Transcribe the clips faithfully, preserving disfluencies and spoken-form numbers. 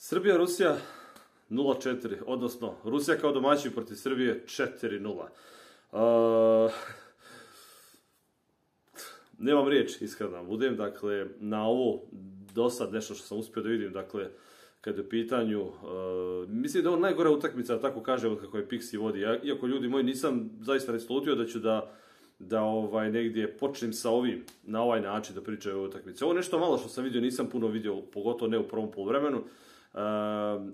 Srbija-Rusija nula četiri, odnosno Rusija kao domaćin protiv Srbije četiri nula. Uh, nemam riječ, iskreno da budem, dakle, na ovo do sad nešto što sam uspio da vidim, dakle, kad je u pitanju, uh, mislim da je on najgora utakmica, tako kažem, kako je Pixi vodi. Ja, iako ljudi moji, nisam zaista resolutio da ću da, da ovaj, negdje počnem sa ovim, na ovaj način da pričaju o utakmici. Ovo nešto malo što sam vidio, nisam puno vidio, pogotovo ne u prvom poluvremenu, uh,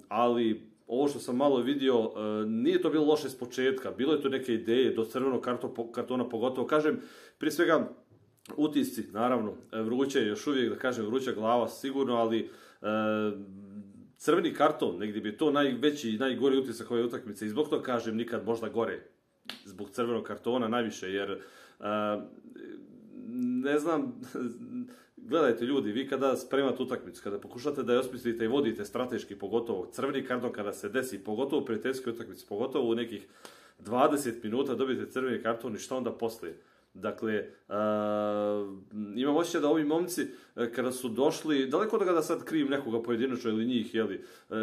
ali ovo što sam malo vidio, uh, nije to bilo loše s početka, bilo je to neke ideje, do crvenog karto, kartona pogotovo, kažem, prije svega, utisci, naravno, vruće, još uvijek, da kažem, vruća glava sigurno, ali uh, crveni karton, negdje bi to najveći i najgori utisak ove utakmice i zbog toga kažem nikad možda gore, zbog crvenog kartona najviše, jer uh, ne znam, gledajte ljudi, vi kada spremate utakmicu, kada pokušate da je osmislite i vodite strateški, pogotovo crveni karton kada se desi, pogotovo u prijateljskoj utakmici, pogotovo u nekih dvadeset minuta dobijete crveni karton i šta onda poslije? Dakle, uh, imam osjećaj da ovi momci, uh, kada su došli, daleko od toga da sad krivim nekoga pojedinačno ili njih, jeli, uh,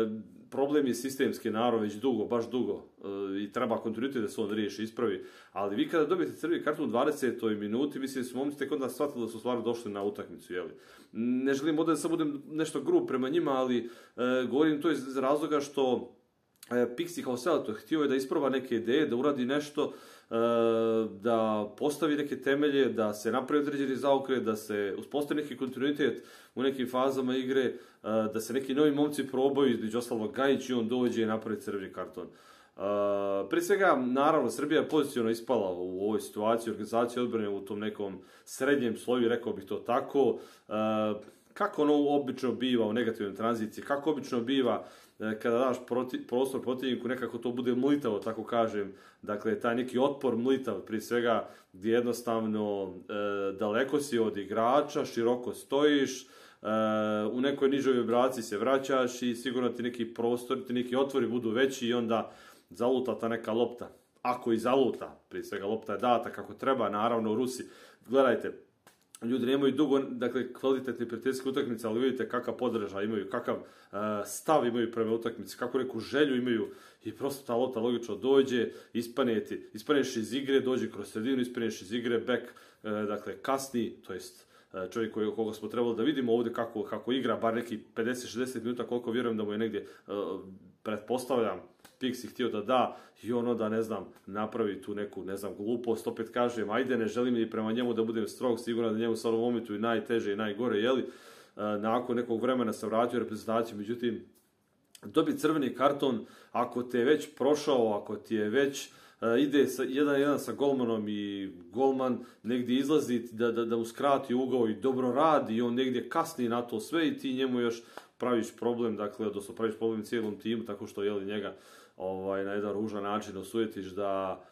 problem je sistemski narod već dugo, baš dugo, uh, i treba kontinuitet da se on riješi, ispravi, ali vi kada dobijete crveni karton u dvadesetoj minuti, mislim da su momci tek onda shvatili da su stvarno došli na utakmicu, jeli. Ne želim ovdje da sad budem nešto grub prema njima, ali uh, govorim to iz razloga što uh, Pixi kao selektor htio je da isproba neke ideje, da uradi nešto, da postavi neke temelje, da se napravi određeni zaokret, da se uspostavi neki kontinuitet u nekim fazama igre, da se neki novi momci probaju, između ostalog Gajić i on dođe i napravi crveni karton. Prije svega, naravno, Srbija je pozicionno ispala u ovoj situaciji, organizacije odbrane u tom nekom srednjem sloju, rekao bih to tako. Kako ono obično biva u negativnoj tranziciji, kako obično biva kada daš proti, prostor protivniku, nekako to bude mlitavo, tako kažem. Dakle, taj neki otpor mlitav, prije svega, gdje jednostavno e, daleko si od igrača, široko stojiš, e, u nekoj nižoj vibraciji se vraćaš i sigurno ti neki prostor, ti neki otvori budu veći i onda zaluta ta neka lopta. Ako i zaluta, prije svega lopta je data kako treba, naravno u Rusi. Gledajte, ljudi nemaju dugo, dakle, kvalitetne prijateljske utakmice, ali vidite kakav podržaj imaju, kakav uh, stav imaju prema utakmici, kakvu neku želju imaju i prosto ta lopta logično dođe, ispaneti, ispaneš iz igre, dođe kroz sredinu, ispaneš iz igre, back, uh, dakle, kasni, to jest uh, čovjek koji, koga smo trebali da vidimo ovdje kako, kako igra, bar neki pedeset šezdeset minuta, koliko vjerujem da mu je negdje, uh, pretpostavljam, Pixi htio da da i ono da, ne znam, napravi tu neku, ne znam, glupost, opet kažem, ajde, ne želim i prema njemu da budem strog, sigurno da njemu sa ovom momentu i najteže i najgore, jeli, nakon nekog vremena se vratio u reprezentaciju, međutim, dobi crveni karton, ako te je već prošao, ako ti je već uh, ide sa, jedan jedan sa golmanom i golman negdje izlazi da, da, da mu skrati ugao i dobro radi i on negdje kasni na to sve i ti njemu još praviš problem, dakle, odnosno praviš problem cijelom timu, tako što, jeli, njega ovaj, na jedan ružan način osujetiš da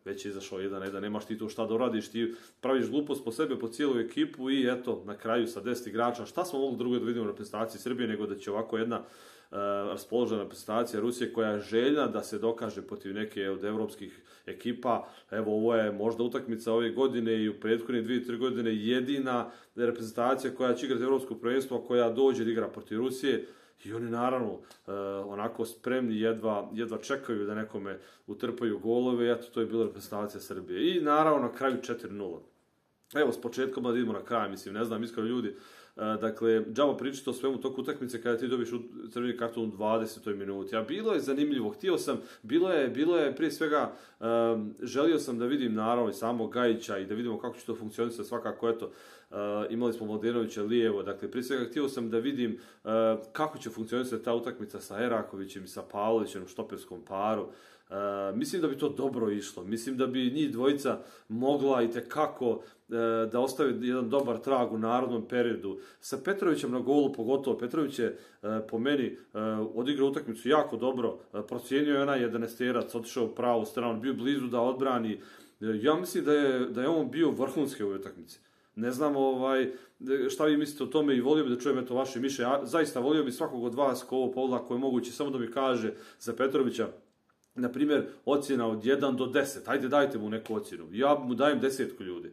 već je izašao jedan na jedan, nemaš ti to šta da uradiš, ti praviš glupost po sebe, po cijelu ekipu i eto, na kraju sa deset igrača, šta smo mogli drugo da vidimo na reprezentaciji Srbije, nego da će ovako jedna uh, raspoložena reprezentacija Rusije koja je željna da se dokaže protiv neke od evropskih ekipa. Evo, ovo je možda utakmica ove godine i u prethodne dvije, tri godine jedina reprezentacija koja će igrati evropsko prvenstvo, koja dođe da igra protiv Rusije. I oni naravno uh, onako spremni, jedva, jedva čekaju da nekome utrpaju golove, eto, to je bila reprezentacija Srbije. I naravno na kraju četiri nula. Evo, s početkom da idemo na kraj, mislim, ne znam, iskreno ljudi, uh, dakle, džaba pričati o svemu toku utakmice kada ti dobiš crveni karton u dvadesetoj minuti. A bilo je zanimljivo, htio sam, bilo je, bilo je prije svega, um, želio sam da vidim naravno i samog Gajića i da vidimo kako će to funkcionisati, svakako, eto, Uh, imali smo Mladenovića lijevo, dakle, prije svega htio sam da vidim uh, kako će funkcionisati ta utakmica sa Erakovićem i sa Pavlovićem u štoperskom paru. Uh, mislim da bi to dobro išlo, mislim da bi njih dvojica mogla itekako uh, da ostave jedan dobar trag u narodnom periodu. Sa Petrovićem na golu pogotovo, Petrović je uh, po meni uh, odigrao utakmicu jako dobro, uh, procijenio je onaj jedanesterac, otišao u pravu stranu, bio blizu da odbrani. Uh, ja mislim da je, da je on bio vrhunski u ovoj utakmici. Ne znam ovaj, šta vi mislite o tome i volio bi da čujem eto vaše mišljenje. Ja zaista volio bi svakog od vas ko ovo pogleda, ko je moguće, samo da mi kaže za Petrovića, na primjer, ocjena od jedan do deset. Ajde, dajte mu neku ocjenu. Ja mu dajem desetku, ljudi.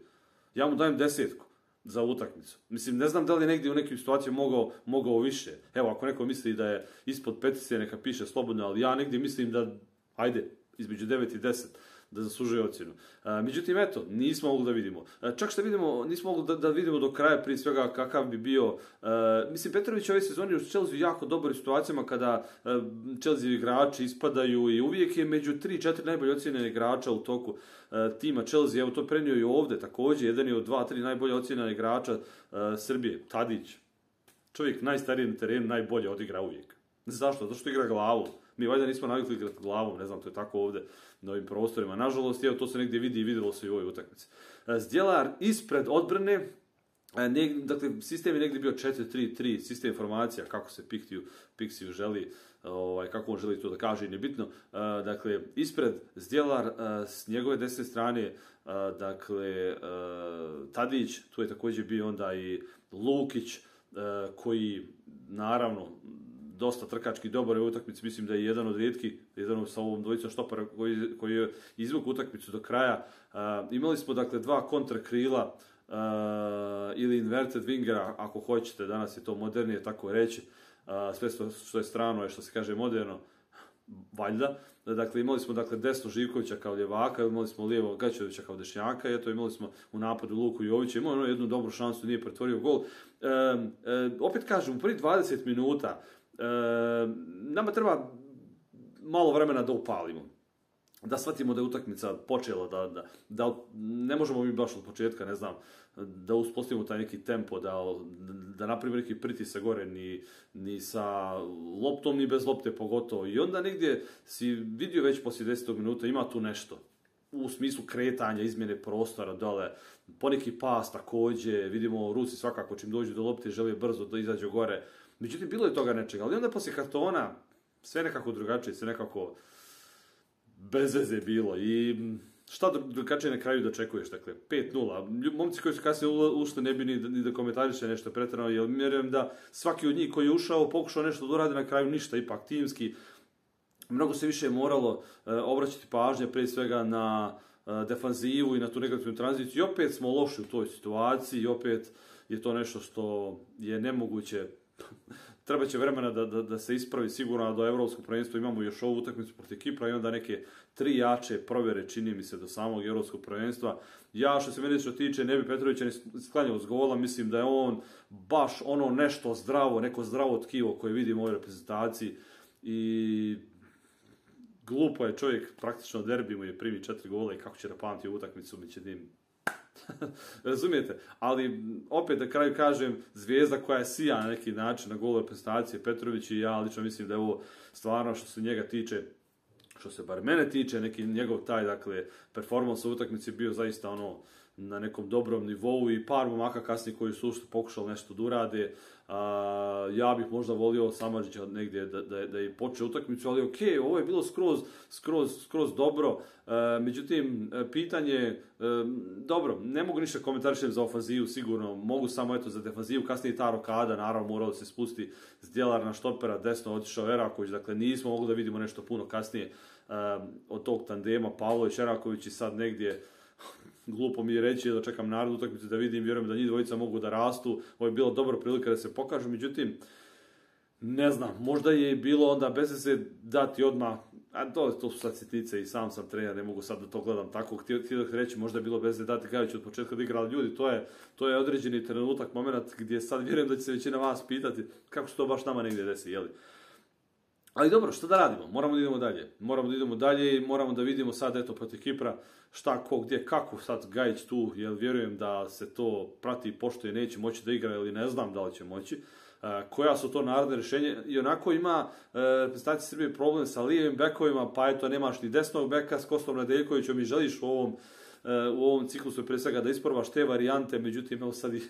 Ja mu dajem desetku. za utakmicu. Mislim, ne znam da li je negdje u nekim situacijama mogao, mogao više. Evo, ako neko misli da je ispod petice, neka piše slobodno, ali ja negdje mislim da, ajde, između devet i deset, da zaslužuje ocjenu. A, međutim, eto, nismo mogli da vidimo. A, čak što vidimo, nismo mogli da, da vidimo do kraja prije svega kakav bi bio. A, mislim, Petrović ove sezoni u Chelsea jako dobro u situacijama kada a, Chelsea igrači ispadaju i uvijek je među tri četiri najbolje ocjenjene igrača u toku a, tima Chelsea. Evo to prenio i ovdje također. Jedan je od dva tri najbolje ocjenjena igrača a, Srbije. Tadić. Čovjek najstariji na terenu, najbolje odigra uvijek. Zašto? Zato što igra glavu. Mi valjda nismo navikli igrati glavom, ne znam, to je tako ovdje na ovim prostorima. Nažalost, evo, to se negdje vidi i vidjelo se i u ovoj utakmici. Zdjelar ispred odbrane, ne, dakle, sistem je negdje bio četiri tri tri, sistem informacija, kako se Piksiju, Piksiju želi, ovaj, kako on želi to da kaže i nebitno. Dakle, ispred Zdjelar, s njegove desne strane, dakle, Tadić, tu je također bio onda i Lukić, koji, naravno, dosta trkački dobar u utakmici, mislim da je jedan od rijetkih, jedan sa ovom dvojicom štopara koji, koji je izvuk utakmicu do kraja. Uh, imali smo dakle dva kontrakrila uh, ili inverted wingera, ako hoćete, danas je to modernije tako reći, uh, sve što je strano je što se kaže moderno, valjda. Dakle, imali smo dakle desno Živkovića kao ljevaka, imali smo lijevo Gaćevića kao dešnjaka, i eto imali smo u napadu Luku Jovića, imao jednu dobru šansu, nije pretvorio gol. Uh, uh, opet kažem, u prvi dvadeset minuta E, nama treba malo vremena da upalimo, da shvatimo da je utakmica počela, da, da, da ne možemo mi baš od početka, ne znam, da uspostavimo taj neki tempo, da, da napravimo neki pritisak gore, ni, ni sa loptom, ni bez lopte pogotovo. I onda negdje si vidio već poslije desetog minuta, ima tu nešto. U smislu kretanja, izmjene prostora dole, poneki pas također, vidimo Rusi svakako čim dođu do lopte žele brzo da izađu gore. Međutim, bilo je toga nečega, ali onda poslije kartona sve nekako drugačije, sve nekako bez veze bilo. I šta drugačije na kraju dočekuješ, dakle, pet nula. Momci koji su kasnije ušli ne bi ni, ni da komentariše nešto pretjerano, jer vjerujem da svaki od njih koji je ušao, pokušao nešto da uradi, na kraju ništa, ipak timski. Mnogo se više je moralo e, obraćati pažnje, prije svega na e, defanzivu i na tu negativnu tranziciju. I opet smo loši u toj situaciji, i opet je to nešto što je nemoguće. Treba će vremena da, da, da se ispravi sigurno, a do evropskog prvenstva imamo još ovu utakmicu protiv Kipra i onda neke tri jače provjere, čini mi se, do samog evropskog prvenstva. Ja, što se mene što tiče, ne bi Petrovića ni sklanjao s gola, mislim da je on baš ono nešto zdravo, neko zdravo tkivo koje vidimo u ovoj reprezentaciji i glupo je čovjek, praktično derbi mu je primi četiri gola i kako će da pamti u utakmicu, mi će dim. Razumijete? Ali opet na kraju kažem, zvijezda koja je sija na neki način na golu reprezentacije, Petrović, i ja lično mislim da je ovo stvarno što se njega tiče, što se bar mene tiče, neki njegov taj, dakle, performans u utakmici bio zaista ono na nekom dobrom nivou i par momaka kasnije koji su ušli pokušali nešto da urade. A, ja bih možda volio Samardžića negdje da, da, da je počeo utakmicu, ali okej, okay, ovo je bilo skroz, skroz, skroz dobro. E, međutim, pitanje, e, dobro, ne mogu ništa komentarišem za ofanzivu, sigurno, mogu samo eto za defanzivu, kasnije ta rokada, naravno moralo se spusti Zdjelar na štopera, desno otišao Eraković, dakle nismo mogli da vidimo nešto puno kasnije e, od tog tandema Pavlović, Eraković i sad negdje. Glupo mi je reći da čekam narodu utakmicu da vidim, vjerujem da njih dvojica mogu da rastu, ovo je bila dobra prilika da se pokažu, međutim, ne znam, možda je bilo onda bez se dati odmah, a to, to su sad sitnice i sam sam trener, ne mogu sad da to gledam tako, htio da reći možda je bilo bez se dati Gajić od početka da igrali ljudi, to je, to je određeni trenutak, moment gdje sad vjerujem da će se većina vas pitati kako se to baš nama negdje desi, jeli? Ali dobro, što da radimo? Moramo da idemo dalje. Moramo da idemo dalje i moramo da vidimo sad, eto, protiv Kipra, šta, ko, gdje, kako sad Gajić tu, jer vjerujem da se to prati i poštuje, neće moći da igra ili ne znam da li će moći. Uh, koja su to narodne rješenje? I onako ima uh, reprezentacija Srbije problem sa lijevim bekovima, pa eto, nemaš ni desnog beka s Kostom Nedeljkovićem i želiš u ovom u ovom ciklusu pre svega da isprobaš te varijante, međutim, evo sad i,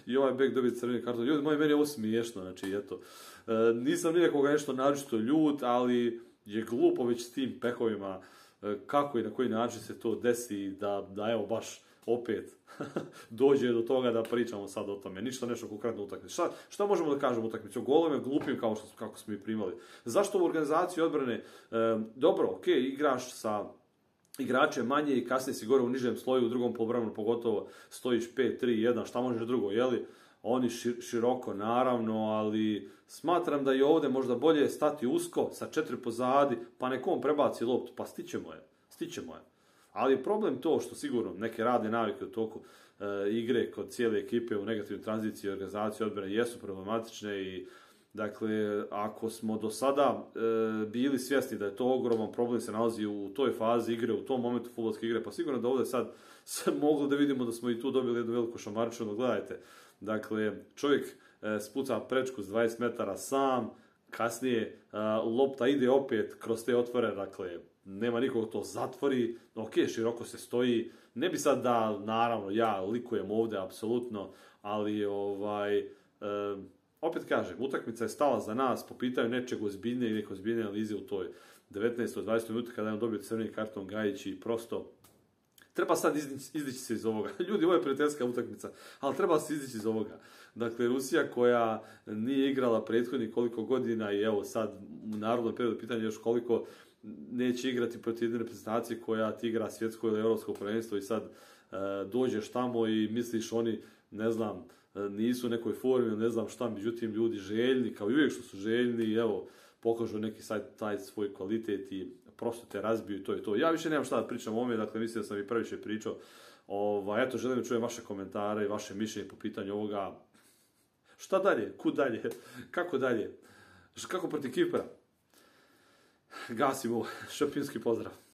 i ovaj bek dobije crveni karton. Ljudi, moj, meni je ovo smiješno, znači, eto, e, nisam nijekoga nešto naročito ljut, ali je glupo već s tim pehovima, e, kako i na koji način se to desi, da, da evo, baš opet dođe do toga da pričamo sad o tome. Ništa nešto konkretno utakmice. Šta, šta možemo da kažemo utakmice? O golove glupim kao što kako smo ih primali. Zašto u organizaciji odbrane? E, dobro, okej, okay, igraš sa igrače manje i kasnije si gore u nižem sloju, u drugom poluvremenu pogotovo stojiš pet tri jedan, šta možeš drugo, jeli? Oni široko, naravno, ali smatram da je ovdje možda bolje stati usko sa četiri pozadi, pa nekom prebaci loptu, pa stićemo je, stićemo je. Ali je problem to što sigurno neke radne navike u toku e, igre kod cijele ekipe u negativnoj tranziciji i organizaciji odbrane jesu problematične i dakle, ako smo do sada e, bili svjesni da je to ogroman problem, se nalazi u toj fazi igre, u tom momentu fudbalske igre, pa sigurno da ovdje sad se moglo da vidimo da smo i tu dobili jednu veliku šamarčinu, gledajte. Dakle, čovjek e, spuca prečku s dvadeset metara sam, kasnije e, lopta ide opet kroz te otvore, dakle, nema nikog to zatvori, ok, široko se stoji, ne bi sad da, naravno, ja likujem ovdje, apsolutno, ali, ovaj, e, opet kažem, utakmica je stala za nas po pitanju nečeg ozbiljnije i neke ozbiljnije analize u toj devetnaestoj dvadesetoj minuti kada je on dobio crveni karton Gajić i prosto treba sad izdići, izdići se iz ovoga. Ljudi, ovo je prijateljska utakmica, ali treba se izdići iz ovoga. Dakle, Rusija koja nije igrala prethodnih koliko godina i evo sad u narodnom periodu pitanje još koliko neće igrati protiv jedne reprezentacije koja ti igra svjetsko ili europsko prvenstvo i sad e, dođeš tamo i misliš oni, ne znam, nisu u nekoj formi, ne znam šta, međutim ljudi željni, kao i uvijek što su željni, evo, pokažu neki sad taj svoj kvalitet i prosto te razbiju i to je to. Ja više nemam šta da pričam o ovome, dakle mislim da sam i previše pričao. Ovaj, eto, želim da čujem vaše komentare i vaše mišljenje po pitanju ovoga. Šta dalje? Kud dalje? Kako dalje? Kako protiv Kipra? Gasimo, šampionski pozdrav.